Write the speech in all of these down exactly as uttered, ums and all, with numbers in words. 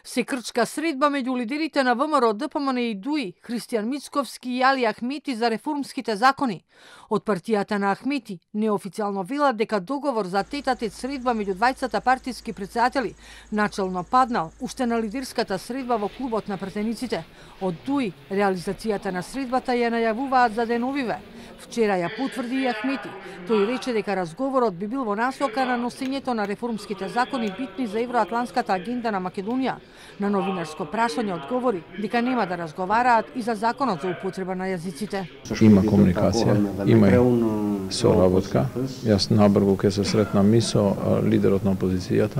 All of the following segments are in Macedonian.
Се крчка средба меѓу лидерите на ВМРО, ДПМН и ДУИ, Христијан Мицковски и Али Ахмети за реформските закони. Од партијата на Ахмети неофицијално велат дека договор за тет-а-тет средба меѓу двајцата партиски претседатели начелно паднал уште на лидерската средба во клубот на пратениците. Од ДУИ реализацијата на средбата ја најавуваат за деновиве. Вчера ја потврди и Ахмети. Тој рече дека разговорот би бил во насока на носењето на реформските закони битни за евроатланската агенда на Македонија. На новинарско прашање одговори дека нема да разговараат и за законот за употреба на јазиците. Има комуникација, има и соработка. Јас набрзо ќе се сретнам и со лидерот на опозицијата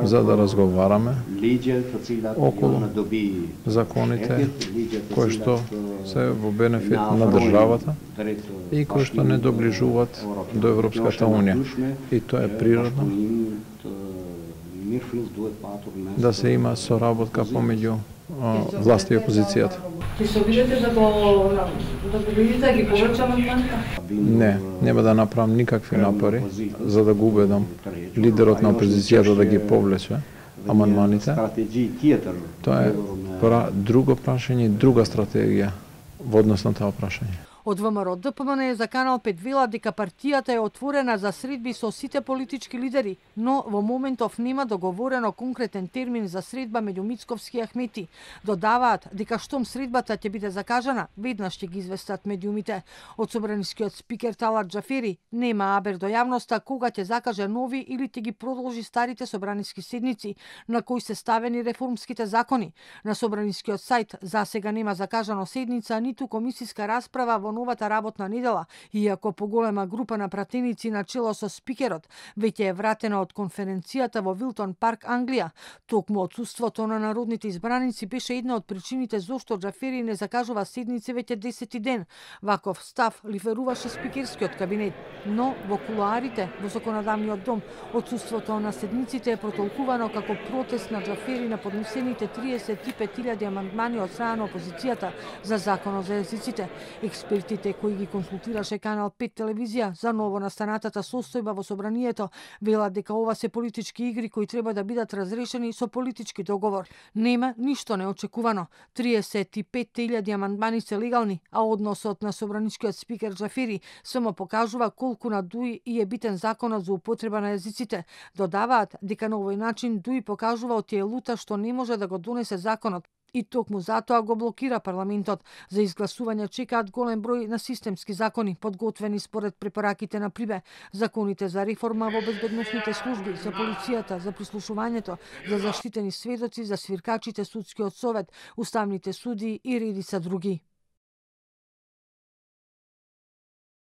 за да разговараме околу законите кои што се во бенефит на државата и кои што не доближуваат до Европската унија. И тоа е природно да се има соработка помеѓу власта и опозицијата. Ќе се обидете да го да го видите да ги поврчаме амандманите? Не, нема да направам никакви напори за да го убедам лидерот на опозицијата да ги повлече амандманите. Тоа е пра, друго прашање и друга стратегија во однос на тоа прашање. Од ВМРО ДПМН е за Канал пет велат дека партијата е отворена за средби со сите политички лидери, но во моментов нема договорено конкретен термин за средба меѓу Мицковски и Ахмети. Додаваат дека штом средбата ќе биде закажана, веднаш ќе ги известат медиумите. Од собранискиот спикер Талат Џафери нема абер до јавноста кога ќе закаже нови или ќе ги продолжи старите собраниски седници на кои се ставени реформските закони. На собранискиот сајт засега нема закажано седница ниту комисиска расправа во новата работна недела, иако поголема група на пратеници на чело со спикерот веќе е вратена од конференцијата во Вилтон Парк, Англија. Токму отсуството на народните избраници беше една од причините зошто Џафери не закажува седници веќе десети ден. Ваков став ливеруваше спикерскиот кабинет, но во кулоарите во законодавниот дом отсуството на седниците е протолкувано како протест на Џафери на поднесените триесет и пет илјади амандмани од страна на опозицијата за законот за јазиците. Експертите кои ги консултираше Канал пет телевизија за ново настанатата состојба во собранието велат дека ова се политички игри кои треба да бидат разрешени со политички договор. Нема ништо неочекувано. триесет и пет илјади амандмани се легални, а односот на собраничкиот спикер Џафери само покажува колку на ДУИ и е битен законот за употреба на јазиците. Додаваат дека на овој начин ДУИ покажува од тие лута што не може да го донесе законот. И токму затоа го блокира парламентот. За изгласување чекаат голем број на системски закони, подготвени според препораките на ПРИБЕ, законите за реформа во безбедносните служби, за полицијата, за прислушувањето, за заштитени сведоци, за свиркачите, судскиот совет, уставните суди и редица други.